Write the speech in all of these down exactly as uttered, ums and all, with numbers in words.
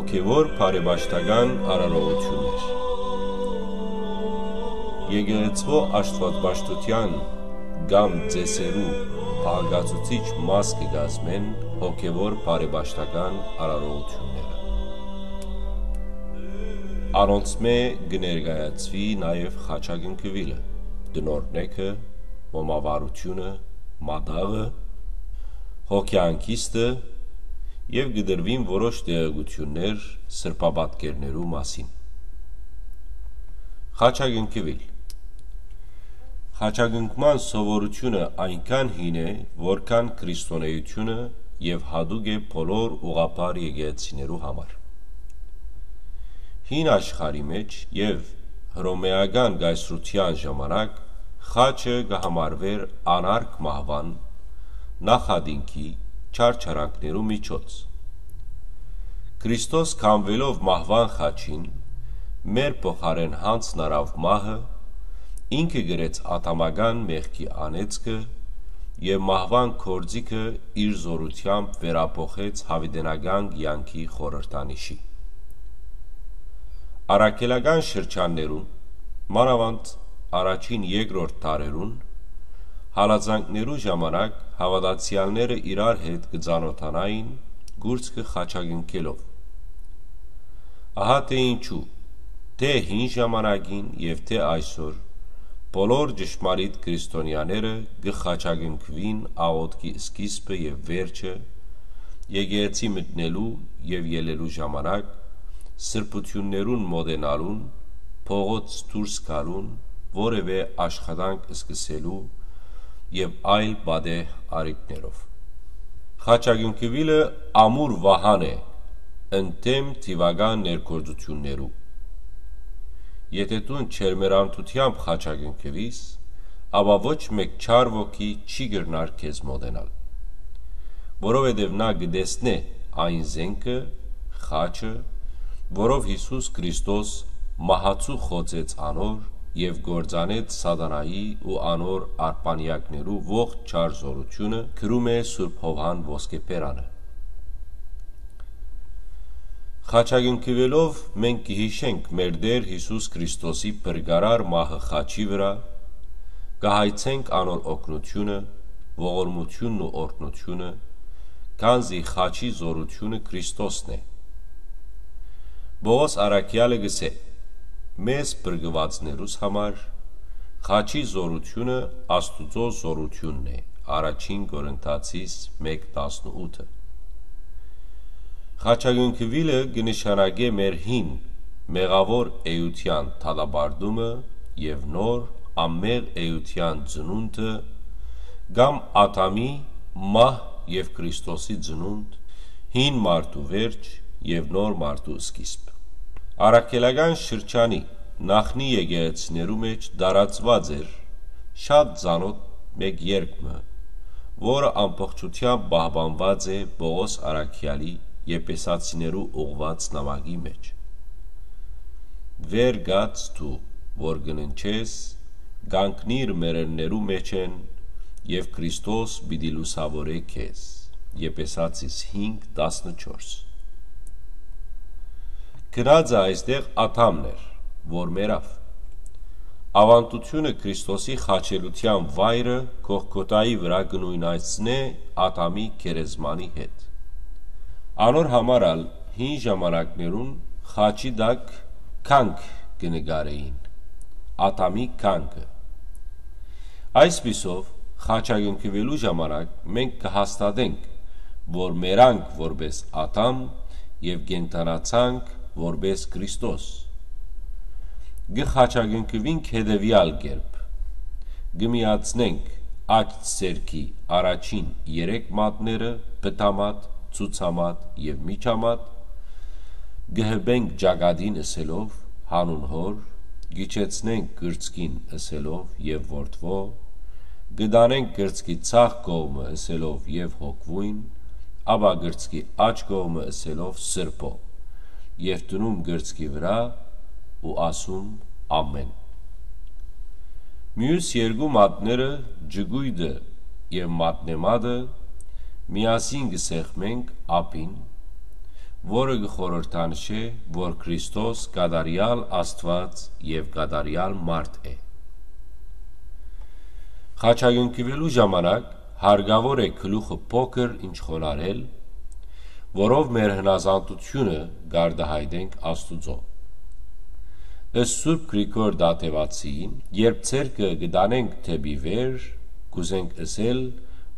Հոգեւոր բարեպաշտական արարողութիւններ։ Եկեղեցւոյ Աստուածպաշտութեան կամ ծեսերու բաղկացուցիչ մաս կը կազմեն հոգեւոր բարեպաշտական արարողութիւնները։ Անոնցմէ կը ներկայացուի նաեւ խաչակնկուիլը, տնօրնեքը, մոմավառութիւնը, մատաղը, հոգեհանգիստը, եւ կը տրուին որոշ տեղեկութիւններ սրբապատկերներու մասին։ Խաչակնկուիլ։ Խաչակնկման սովորութիւնը այնքան հին է, որքան քրիստոնէութիւնը, եւ յատուկ է բոլոր ուղղափառ եկեղեցիներու համար։ Հին աշխարհի մէջ եւ հռոմէական կայսրութեան ժամանակ խաչը կը համարուէր անարգ մահուան, նախատինքի, չարչարանքներու միջոց։ Քրիստոս քամուելով մահուան խաչին, մեր փոխարէն յանձն առաւ մահը, ինքը կրեց ադամական մեղքի անեծքը եւ մահուան գործիքը իր զօրութեամբ վերափոխեց յաւիտենական կեանքի խորհրդանիշի։ Առաքելական շրջաններուն, մանաւանդ առաջին, երկրորդ դարերուն, հալածանքներու ժամանակ հաւատացեալները իրար հետ կը ծանօթանային կուրծքը խաչակնկելով։ Ահա թէ ինչու, թէ հին ժամանակին եւ թէ այսօր, բոլոր ճշմարիտ քրիստոնեաները կը խաչակնկուին աղօթքի սկիզբը եւ վերջը, եկեղեցի մտնելու եւ ելլելու ժամանակ, սրբութիւններուն մօտենալուն, փողոց դուրս գալուն, որեւէ աշխատանք սկսելու եւ այլ պատեհ առիթներով։ Խաչակնկուիլը ամուր վահան է ընդդեմ թիւական ներգործութիւններու։ Եթէ դուն ջերմեռանդութեամբ խաչակնկուիս, ապա ոչ մէկ չար ոգի չի կրնար քեզ մօտենալ, որովհետեւ նա կը տեսնէ այն զէնքը, խաչը, որով Յիսուս Քրիստոս մահացու խոցեց անոր եւ կործանեց սատանայի ու անոր արբանեակներու ողջ չար զօրութիւնը, գրում է Սուրբ Յովհան Ոսկեբերանը։ Խաչակնկուելով մենք կը յիշենք մեր Տէր Յիսուս Քրիստոսի փրկարար մահը խաչի վրայ, կը հայցենք անոր օգնութիւնը, ողորմութիւնն ու օրհնութիւնը, քանզի խաչի զօրութիւնը Քրիստոսն է։ Պողոս առաքեալը կ'ըսէ. «Մեզ փրկուածներուս համար խաչի զօրութիւնը Աստուծոյ զօրութիւնն է», Առաջին Կորինթացիս մէկ տասնութը։ Խաչակնկուիլը կը նշանակէ մեր հին, մեղաւոր էութեան դատապարտումը եւ նոր, անմեղ էութեան ծնունդը, կամ Ադամի, մահ եւ Քրիստոսի ծնունդ, հին մարդու վերջ եւ նոր մարդու սկիզբ։ Առաքելական շրջանի նախնի եկեղեցիներու մէջ տարածուած էր շատ ծանօթ մէկ երգ մը, որը ամբողջութեամբ պահպանուած է Պողոս առաքեալի Եփեսացիներու ուղղուած նամակի մէջ. «Վեր կաց դու, որ կը ննջես, կանգնիր մեռելներու մէջէն եւ Քրիստոս պիտի լուսաւորէ քեզ»։ Եփեսացիս հինգ տասնչորս։ Գնածը այստեղ Ադամն էր, որ մեռաւ։ Աւանդութիւնը Քրիստոսի խաչելութեան վայրը Գողգոթայի վրայ կը նոյնացնէ Ադամի գերեզմանի հետ։ Անոր համար ալ հին ժամանակներուն խաչի տակ կանգ կը նկարէին, Ադամի կանգը։ Այսպիսով, խաչակնկուելու ժամանակ մենք կը հաստատենք, որ մեռանք որպէս Ադամ եւ կենդանացանք որպէս Քրիստոս։ Կը խաչակնկուինք հետեւեալ կերպ. կը միացնենք աջ ձեռքի առաջին երեք մատները՝ պտամատ, ցուցամատ եւ միջամատ, կը հպենք ճակատին ըսելով՝ «Յանուն Հօր», կիջեցնենք կրծքին ըսելով՝ «Եւ Որդւոյ», կը տանենք կրծքի ձախ կողմը ըսելով՝ «Եւ Հոգւոյն», ապա կրծքի աջ կողմը ըսելով՝ «Սրբոյ», եւ դնում կրծքի վրայ ու ասում՝ «Ամէն»։ Միւս երկու մատները, ճկոյտը եւ մատնեմատը, միասին կը սեղմենք ափին, որը կը խորհրդանշէ, որ Քրիստոս կատարեալ Աստուած եւ կատարեալ մարդ է։ Խաչակնքուելու ժամանակ հարկաւոր է գլուխը փոքր ինչ խոնարհել, որով մեր հնազանդութիւնը կ'արտայայտենք Աստուծոյ։ Ըստ Սուրբ Գրիգոր Դատեւացիին, երբ ձեռքը կը տանենք դէպի վեր, կ'ուզենք ըսել,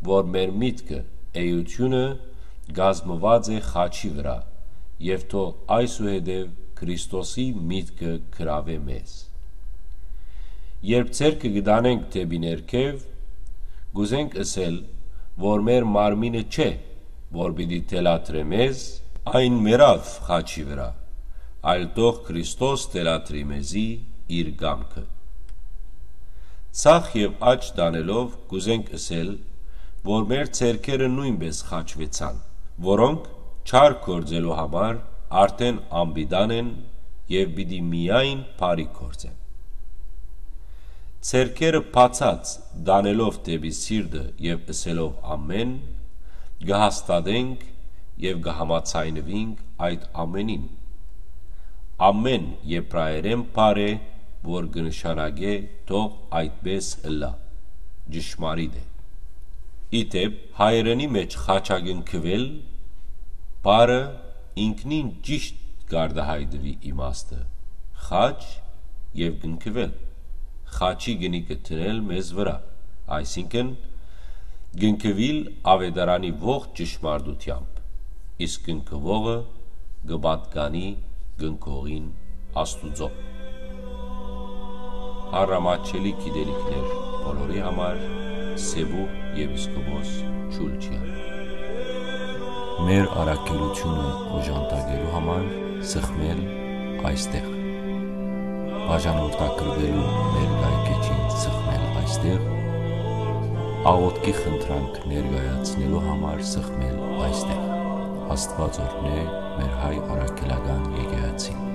որ մեր միտքը, էութիւնը կազմուած է խաչի վրայ, եւ թող այսուհետեւ Քրիստոսի միտքը գրաւէ մեզ։ Երբ ձեռքը կը տանենք դէպի ներքեւ, կ'ուզենք ըսել, որ մեր մարմինը չէ, որ պիտի թելադրէ մեզ, այն մեռաւ խաչի վրայ, այլ թող Քրիստոս թելադրի մեզի իր կամքը։ Ձախ եւ աջ տանելով կ'ուզենք ըսել, որ մեր ձեռքերը նոյնպէս խաչուեցան, որոնք չար գործելու համար արդէն անպիտան են եւ պիտի միայն բարի գործեն։ Ձեռքերը բացած տանելով դէպի սիրտը եւ ըսելով ամէն, կը հաստատենք եւ կը համաձայնուինք այդ ամէնին։ Ամէն Եբրայերէն բառ է, որ կը նշանակէ թող այդպէս ըլլայ։ Ճշմարիտ է։ Ի դէպ, հայերէնի մէջ խաչակնքուել բառը ինքնին ճիշտ կ'արտայայտուի իմաստը՝ խաչ եւ կնքուել, խաչի կնիքը դնել մեզ վրայ, այսինքն՝ կնքուիլ աւետարանի ողջ ճշմարտութեամբ, իսկ կնքուողը կը պատկանի կնքողին Աստուծոյ։ Առամաչելի գիտելիքներ բոլորի համար, Սեւուխ եպիսկոպոս Չուլչեան։ Մեր առաքելութիւնը օժանդակելու համար սխմել այստեղ։ Բաժանորդագրուելու մեր կայքէջին սխմել այստեղ, աղօթքի խնդրանք ներկայացնելու համար սխմել այստեղ։ Աստուած օրհնէ մեր հայ առաքելական եկեղեցին։